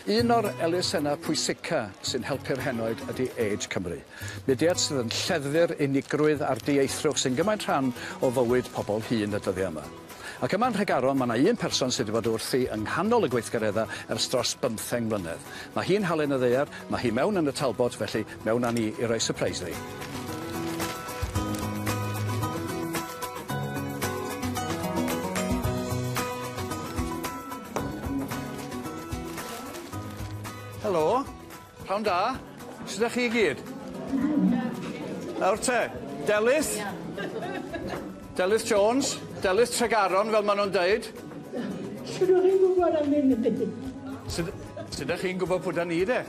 Un o'r elusennau pwysica sy'n helpu'r henoed ydy Age Cymru. Mudiad sydd yn lleddfu'r unigrwydd a'r dieithrwch sy'n gymaint rhan o fywyd pobl hŷn y dyddiau yma. Ac yma yn Nhregaron mae 'na un person sydd wedi bod wrthi yng nghanol y gweithgareddau ers dros bymtheng mlynedd. Mae hi'n halen y ddaear, mae hi mewn yn y Talbot, felly mewn â ni i roi sypreis iddi. Helo, pnawn da. Sut 'dach chi i gyd? Nawr te, Delyth? Delyth Jones, Delyth Tregaron fel ma' nw'n deud. Sut o'ch chi'n gwybod am hyn y Sut sut 'dach chi'n gwybod pwy 'dan ni de?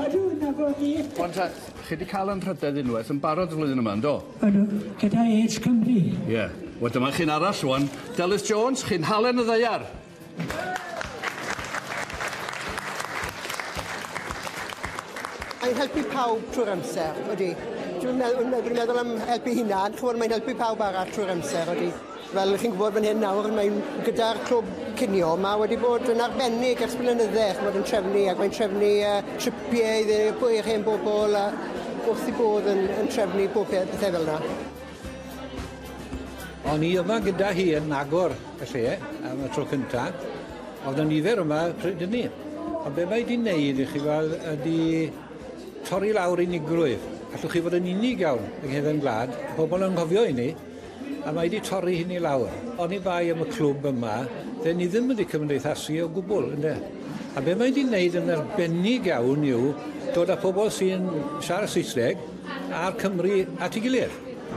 Odw, nabod fi. Wan ta, chi 'di ca'l anrhydedd unwaith yn barod y flwyddyn yma, yndo? Odw, gyda Age Cymru. Ie. Wel dyma chi'n arall rŵan. Delyth Jones, chi'n halen y ddaear. Mae'n helpu pawb trwy'r amser, odi. Dwi'm yn meddwl dwi'n meddwl am helpu hunan, ch'mod mae'n helpu pawb arall trwy'r amser, odi. Fel chi'n gwybod fan hyn nawr, mae'n gyda'r clwb cinio, ma' wedi bod yn arbennig ers blynydde, ch'mod yn trefnu ac mae'n trefnu yy tripie i i'r hen bobl a wrth 'i bodd yn yn trefnu bob peth pethe fel 'na. O'n i yma gyda hi yn agor y lle am y tro cynta. O'dd 'na nifer yma pryd hynny. Ond be' mae 'di neud i chi weld ydi torri lawr unigrwydd. Allwch chi fod yn unig iawn yng nghefen gwlad, pobol yn anghofio hynny, a mae 'di torri hynny lawr. Oni bai am y clwb yma, dden ni ddim wedi cymdeithasu o gwbl, ynde? A be' mae 'di neud yn arbennig iawn yw dod â pobol sy'n siarad Saesneg a'r Cymry at ei gilydd.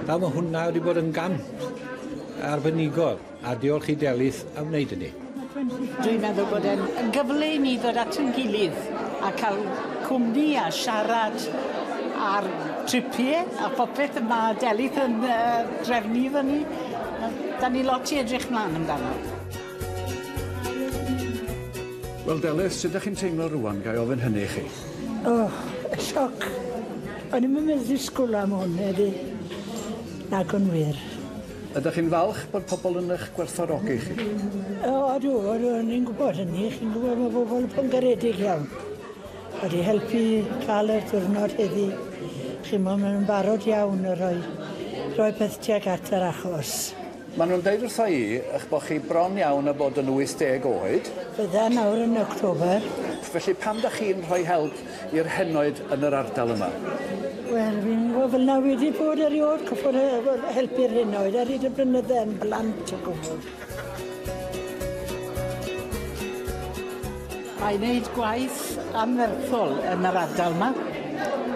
A ma' hwnna wedi bod yn gamp arbenigol, a diolch i Delyth am wneud hynny. Dwi'n meddwl bod e'n yn gyfle i ni ddod at ein gilydd a cael cwmni a siarad ar tripie a popeth y ma' Delyth yn yy drefnu iddo ni. 'Dan ni lot i edrych mlan amdano. Wel Delyth, sut 'dach chi'n teimlo rŵan, gai ofyn hynny i chi? O, sioc. O'n i'm yn meddwl disgwl am hwn heddi. Nag o'n wir. Ydych chi'n falch bod pobl yn eich gwerthfawrogi chi? O, ydw, ydw, o'n i'n gwybod hynny. Chi'n gwybod mae bobl yn garedig iawn. Wedi helpu cael y diwrnod heddi. Chi'n gwybod, maen nhw'n barod iawn i roi, rhoi peth tuag at yr achos. Maen nhw'n deud wrtha i eich bod chi bron iawn â bod yn 80 oed. Fydda nawr yn October. Felly pam dach chi'n rhoi help i'r henoed yn yr ardal yma? Wel, fi'n gwybod fel 'na wedi bod erioed, cwpl o helpu'r henoed ar hyd y blynydde yn blant o gwbl. Mae'n neud gwaith anferthol yn yr ardal 'ma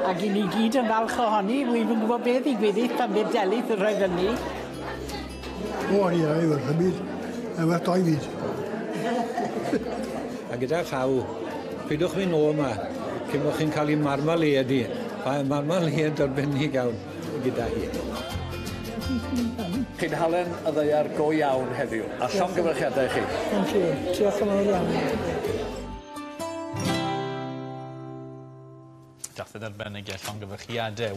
ag 'yn ni gyd yn falch ohoni, wi'm yn gwbod be' ddigwyddith pan fydd Delyth yn rhoi fyny. O ie, i werth y byd. Mae werth doi fyd. A gyda llaw, pidwch mynd nôl 'ma cyn bo' chi'n ca'l 'i marmalade hi. Mae marmalade arbennig iawn gyda hi. Chi'n halen y ddaear go iawn heddiw, a llongyfarchiadau i chi. Thank you. Diolch yn fawr iawn. Dathliad arbennig, ie, llongyfarchiade.